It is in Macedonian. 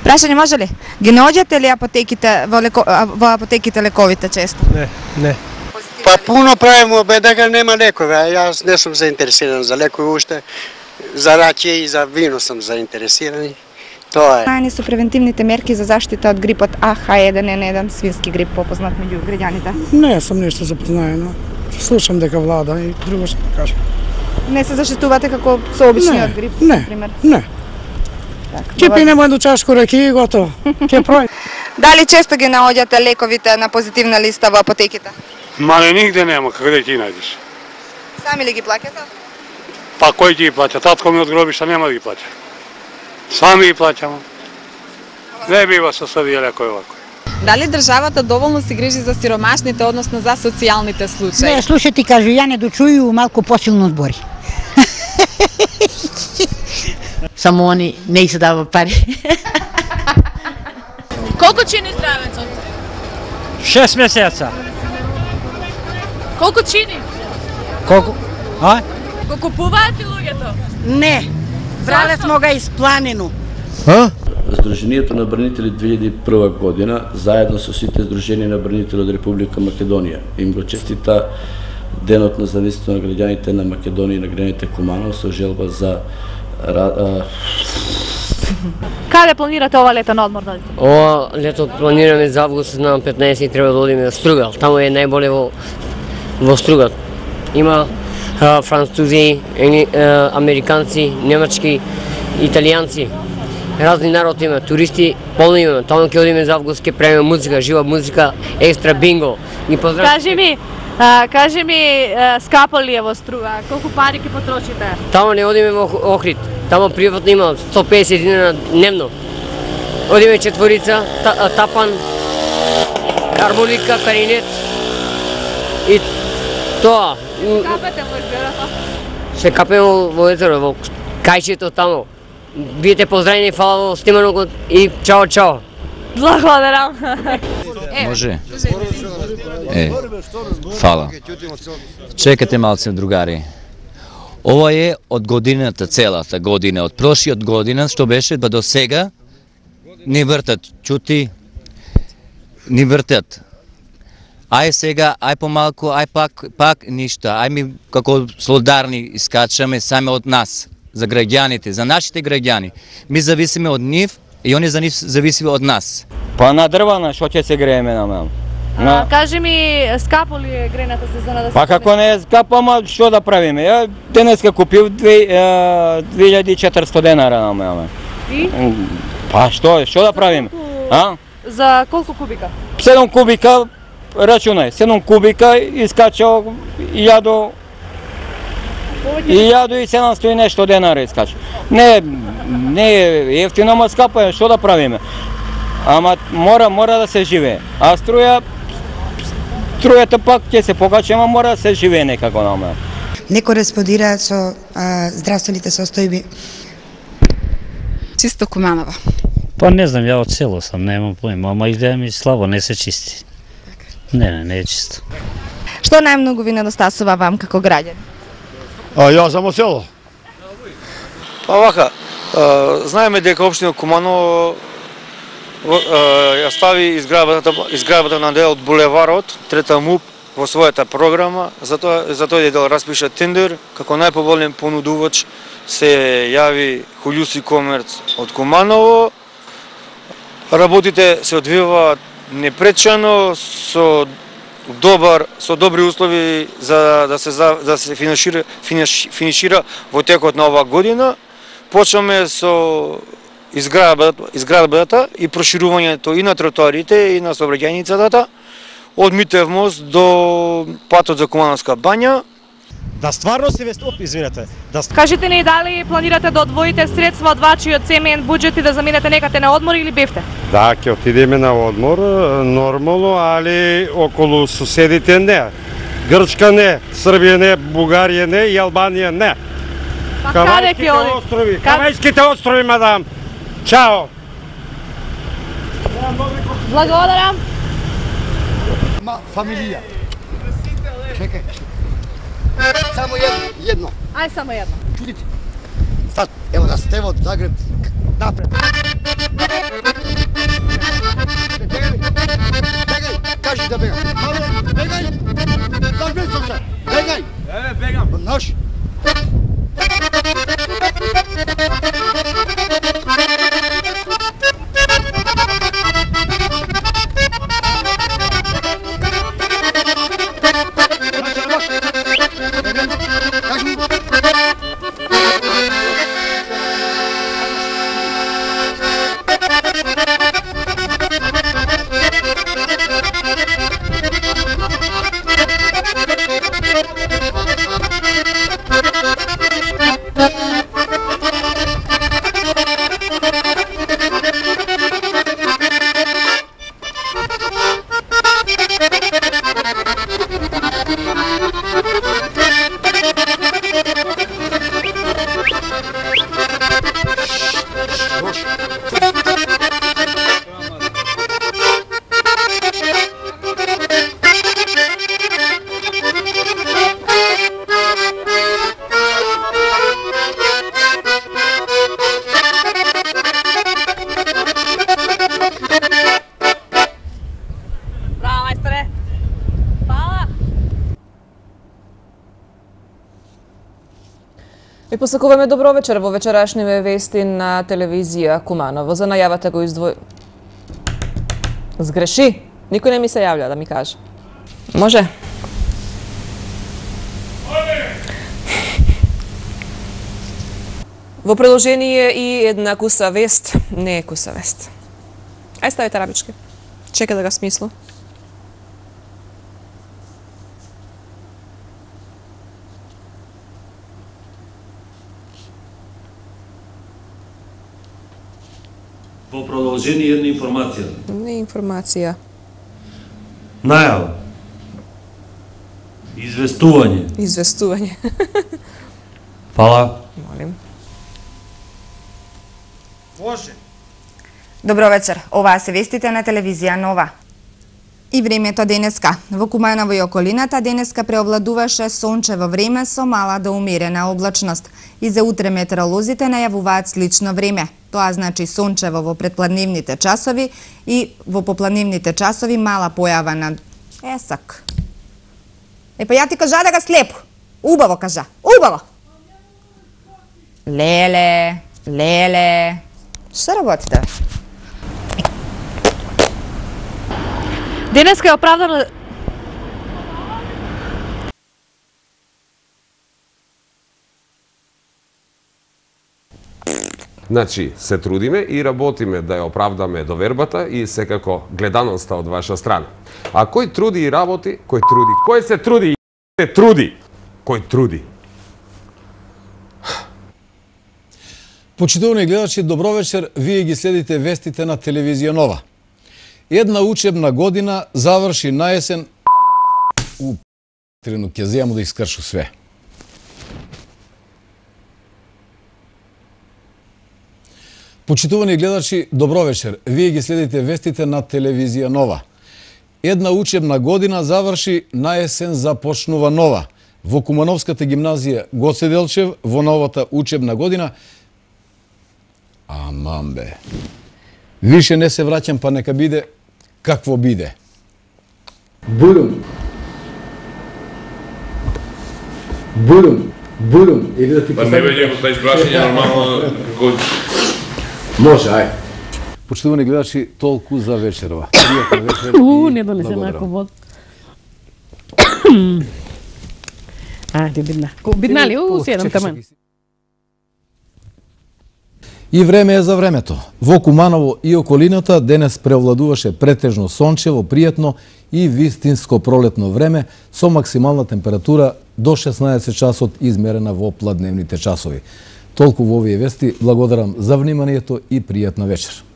Прашање може ли? Ги наоѓате ли во апотеките лековите често? Не. Па пуно правимо дека нема лекови, а јас не сум заинтересиран за лекови уште. За раче и за вино сум заинтересирани. Тоа е. Знаени се превентивните мерки за заштита од грипот AH1N1, свински грип, попознат меѓу граѓаните? Не сум нешто запознаено. Слушам дека влада и друго што кажа. Не се заштитувате како со обичниот грип, например? Не. Ќе пинемо едно чашко раки и готово. Ќе прој. Дали често ги наоѓате лековите на позитивна листа во апотеките? Мале нигде нема, каде ќе најдеш? Сами ли ги плаќате? Па кој ќе ги плаќа? Татко ми од гробишта нема да ги плаќа. Сами ги плаќаме. Не бива со сабија лекови овако. Дали државата доволно се грижи за сиромашните, односно за социјалните случаи? Не, слушај ти кажу, ја не дочуju малку посилно збори. Само они не се дава пари. Колку чини здравецот? 6 месеца. Колку чини? Колку? А? Го купуваат ли луѓето? Не, брале смо га испланено. Сдруженијето на бранители 2001 година, заедно со сите сдруженија на бранители од Република Македонија, им го честита Денот на независност на граѓаните на Македонија и на граѓаните Куманово со желба за Каде планирате ова лето на одмор да одите? Ова лето планираме за август на 15 и треба да одиме на Стругал. Таму е најболе во Стругал. Има французи, американци, немачки, италијанци. Разни народ има, туристи, полно има. Таму ќе одиме за август, ќе правиме музика, жива музика, екстра бинго. Кажи ми, скапо ли е во Струга? Колку пари ќе потрошите? Таму не одиме во Охрид. Таму приватно има 150 динара дневно. Одиме четворица, тапан, хармоника, каринет и тоа. Капете во езерото? Се капеме во езеро, во кајчето таму. Биете поздравени, фала во сниманото и чао. Благодарам. Може? Фала. Чекате малце, другари. Ова е од годината, целата година, од прошиот година, што беше, ба до сега, ни вртат, чути, ни вртат. Ај сега, ај помалку, ај пак ништа, ај ми како солидарни искачаме саме од нас, за граѓаните, за нашите граѓани. Ми зависиме од нив и они за нив зависиме од нас. Па на дрвана, што ќе се грееме на мен? Кажи ми, скапо ли е грејната сезона да се? Па како не е скапо, ама што да правиме? Ја денеска купив 2400 денара на мене. И? Па што да правиме? За колку кубика? 7 кубика, рачунај, 7 кубика искачал 1000 и 700 и нешто денара искача. Не е ефтино, ама скапо е, што да правиме? Ама мора да се живее. А струјата пак ќе се покачи, ама мора да се живее некако на мене. Не кореспондираат со здравствените состојби. Чисто Куманово. Па не знам, ја од село сам, немам поима, ама идеја ми слабо, не се чисти. Не е чисто. Што најмногу ви недостасува вам како граѓани? Јас сам од село. Па вака, знаеме дека општина Куманово ја стави изградбата на дел од булеварот, трета МУП, во својата програма, затоа е дел распиша тендер, како најповолен понудувач се јави Холјуси Комерц од Куманово. Работите се одвиваат непречано, со добри услови за да се финишира во текот на оваа година. Почнаме со изградбата и проширувањето и на тротоарите и на сообраќајницата од Митев мост до патот за Кумановска бања. Да стварно се извинете. Кажете ни дали планирате да одвоите средства од вашиот семеен буџет и да заминете некаде на одмор или бевте? Да, ќе отидеме на одмор, нормално, али околу соседите не. Грчка не, Србија не, Бугарија не и Албанија не. Па каде ќе одите? Кавајските острови, мадам. Чао. Благодарам. Фамилија. Чекај. Само едно. Ај само едно. Чудите. Стат, ево да сте од Загреб. Напред. Кажи да бегам. Бегай! Загни се! Бегай! Бегам! Наш! Ви посакуваме добро вечер во вечерашниве вести на телевизија Куманово. За најавата го Сгреши? Никој не ми се јавља да ми каже. Може? Во продолжение и една куса вест, не е куса вест. Ај ставите арабички. Чека да го смислу. Во продолжение една информација. Не информација. Најава. Известување. Известување. Фала. Молим. Може. Добро вечер. Оваа се вестите на телевизија Нова. И времето денеска. Во Куманово и околината денеска преовладуваше сончево време со мала до умерена облачност. И за утре метеоролозите најавуваат слично време. Тоа значи сончево во предпладневните часови и во попладневните часови мала појава на есак. Па ја ти кажа да га слепо. Убаво кажа. Убаво. Леле. Што работите? Денеска е оправдано... Значи, се трудиме и работиме да ја оправдаме довербата и секако гледаноста од ваша страна. А кој труди и работи, кој труди. Кој се труди и се труди. Кој труди. Почитувани гледачи, добро вечер. Вие ги следите вестите на телевизија Нова. Една учебна година заврши наесен... Трено ќе земам да искршу све. Почитувани гледачи, добро вечер. Вие ги следите вестите на телевизија Нова. Една учебна година заврши, наесен започнува нова. Во Кумановската гимназија Гоце Делчев во новата учебна година... Аман бе. Више не се враќам, па нека биде какво биде. Бурум. Или да ти Па не веќе го ставиш прашање нормално како... Може, ај. Почитувани гледачи, толку за вечерва. Пријатна вечер и не донесе нако вод. Ајде, бидна. Бидна ли? Седам таман. И време е за времето. Во Куманово и околината денес преовладуваше претежно сончево, пријатно и вистинско пролетно време со максимална температура до 16 часот измерена во пладневните часови. Толку во овие вести, благодарам за вниманието и пријатна вечер.